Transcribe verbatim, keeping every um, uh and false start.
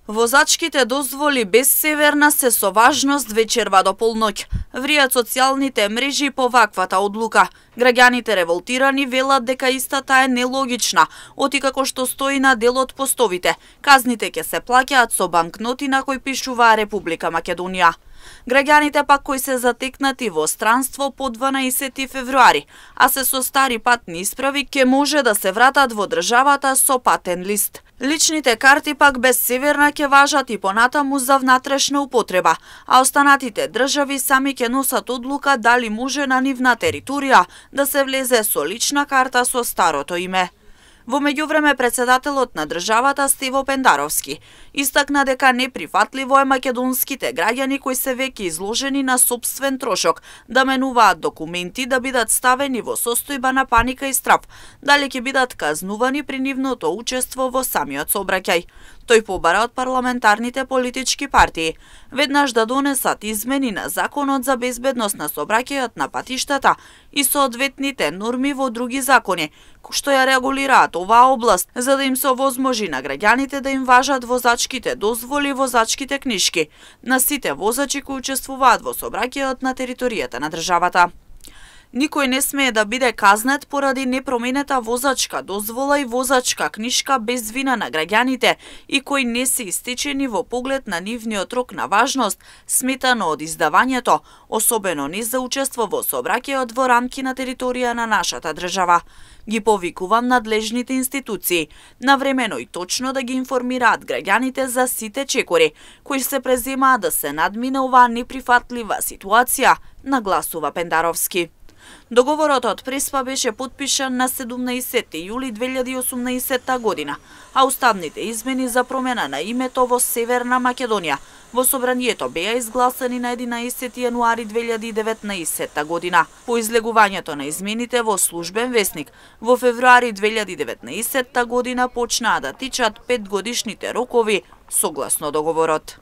Возачките дозволи без Северна се со важност вечерва до полноќ. Вријат социјалните мрежи по ваквата одлука. Граѓаните револтирани велат дека истата е нелогична, оти како што стои на дел од постовите. Казните ќе се плаќаат со банкноти на кои пишува Република Македонија. Граѓаните пак кои се затекнати во странство по дванаесети февруари, а се со стари патни исправи, ќе може да се вратат во државата со патен лист. Личните карти пак без Северна ќе важат и понатаму за внатрешна употреба, а останатите држави сами ќе носат одлука дали може на нивна територија да се влезе со лична карта со старото име. Во меѓувреме, председателот на државата Стево Пендаровски истакна дека неприфатливо е македонските граѓани кои се веќе изложени на сопствен трошок да менуваат документи да бидат ставени во состојба на паника и страв, дали ќе бидат казнувани при нивното учество во самиот сообраќај. Тој побара од парламентарните политички партии веднаш да донесат измени на Законот за безбедност на сообраќајот на патиштата и соодветните норми во други закони, што ја регулираат оваа област, за да им се овозможи на граѓаните да им важат возачките дозволи и возачките книшки на сите возачи кои учествуваат во сообраќајот на територијата на државата. Никој не смее да биде казнет поради непроменета возачка дозвола и возачка книшка без вина на граѓаните и кои не се истечени во поглед на нивниот рок на важност, сметано од издавањето, особено не за учество во сообраќајот во рамки на територија на нашата држава. Ги повикувам надлежните институции навремено и точно да ги информираат граѓаните за сите чекори кои се преземаат да се надмине оваа неприфатлива ситуација, нагласува Пендаровски. Договорот од Преспа беше потпишан на седумнаесети јули две илјади и осумнаесетта година, а уставните измени за промена на името во Северна Македонија во собранието беа изгласани на единаесети јануари две илјади и деветнаесетта година. По излегувањето на измените во Службен весник, во февруари две илјади и деветнаесетта година почнаа да тичат петгодишните рокови согласно договорот.